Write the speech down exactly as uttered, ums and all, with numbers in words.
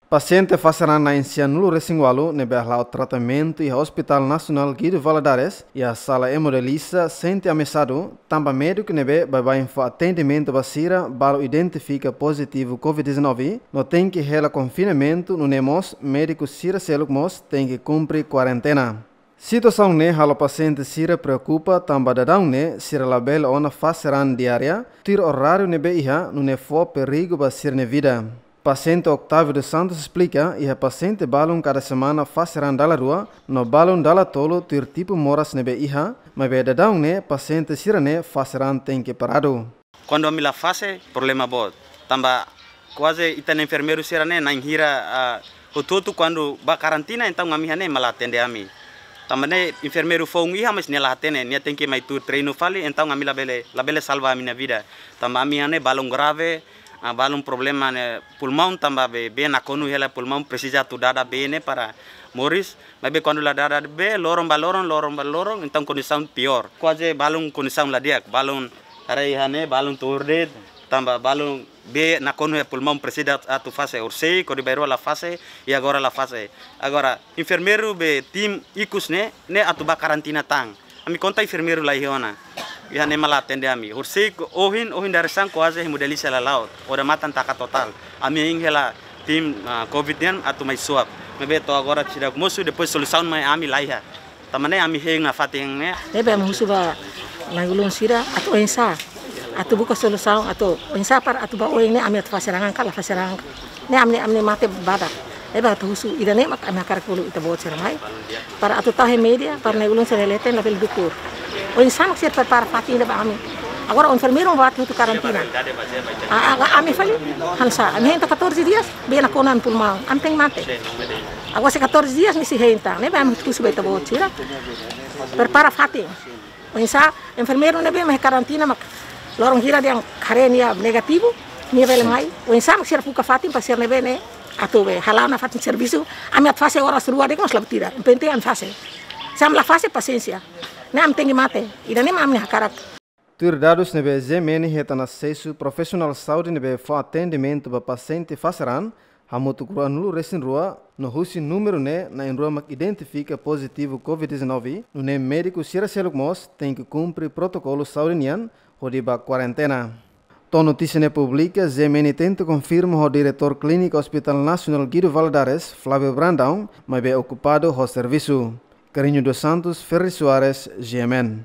Pasiente fase raan na'in-sianulu-resin-ualu ne'ebé hala'o tratamentu iha Hospital Nasionál Guido Valadares iha sala hemodiálise sente ameasadu tanba médiku ne'ebé baibain fó atendimentu ba sira balu identifika pozitivu COVID-19 no tenke hela konfinamentu, nune'e mós médiku sira seluk mós tenke kumpre kuarentena. Situasaun ne'e halo pasiente sira preokupa tanba daudaun ne'e sira labele ona fase raan diária tuir oráriu ne'ebé iha, nune'e fó perigu ba sira-nia vida. Pasiente Octávio dos Santos esplika iha pasiente balun kada semana fase raan dala rua no balun dala tolu tuir tipu moras ne'ebé iha, maibé daudaun ne'e pasiente sira-ne'e fase raan tenke paradu. Kuandu ami la fase, problema boot. Tanba kuaze ita-nia enfermeiru sira-ne'e na'in hira, ah, hotu-hotu kuandu bá karantina, entaun ami iha ne'e ema la atende ami. Tanba ne'e enfermeiru foun iha, mas nia la hatene, nia tenke mai tuur treinu fali, entaun ami labele, labele salva ami-nia vida. Tanba ami iha ne'e balun grave, ah, balun problema ne'e pulmaun tanba bee, bee nakonu hela pulmaun presiza atu dada bee ne'e para moris. Maibé kuandu la dada bee, loron ba loron, loron ba loron, entaun kondisaun piór. Kuaze balun kondisaun la di'ak, balun haree iha ne'e, balun tuur de'it, tanba balun bee nakonu iha pulmaun presiza atu fase, horisehik, horibainrua la fase, i agora la fase. Agora, enfermeiru be tim ikus ne'e, ne'e atu bá karantina tan. Ami konta enfermeiru la iha ona. Iha ne'e ema la atende ami. Horisehik ohin, ohin dadeer-saan kuaze hemodiálise la la'o. Odamatan taka totál. Ami hein hela tim, ah, COVID nian atu mai swab. Maibé to'o agora seidauk mosu, depois solusaun mai ami la iha. Tanba ne'e ami hein nafatin ne'e. Ne'ebé ami husu ba na'i-ulun sira atu oinsá, atu buka solusaun, atu oinsá para atu ba oin ne'e ami atu fase raan ka la fase raan ka. Ne'e ami, ami mate badak. Ne'ebé atu husu ida-ne'e mak ami hakarak bolu ita-boot sira mai. Para atu tau iha média, para na'i-ulun sira leten labele dukur. Oinsá mak sira prepara fatin ida ba ami. Agora enfermeiru ba atu karantina. Ah, ah, ami fali, hanesan, ami hein tan catorze dias, bee nakonu iha pulmaun, ami tenke mate. Agora se catorze dias nia sei hein tan, ne'ebé ami husu ba ita-boot sira. Prepara fatin. Oinsá, enfermeiru ne'ebé mai karantina mak loron hira dehan haree nia negativu, nia bele mai. Oinsá mak sira buka fatin para sira ne'ebé ne'e atu be hala'o nafatin servisu, ami atu fase oras rua de'it mós la buat ida. Penting ami fase. Se ami la fase pasiénsia. Ne'e ami tenke mate. Ida-ne'e mak ami hakarak. Tuir dadus ne'ebé G M N hetan asesu, profisionál saúde ne'ebé fó atendimentu ba pasiente fase raan hamutuk ruanulu-resin-rua, no husi númeru ne'e na'in-rua mak identifika pozitivu COVID-19, nune'e médiku sira seluk mós tenke kumpre protokolu saúde nian hodi bá kuarentena. To'o notísia ne'e publika, G M N tenta konfirma ho diretór klíniku Hospital Nasionál Guido Valadares, Flávio Brandão, maibé okupadu ho servisu. Carrinho dos Santos, Ferri Soares, G M N.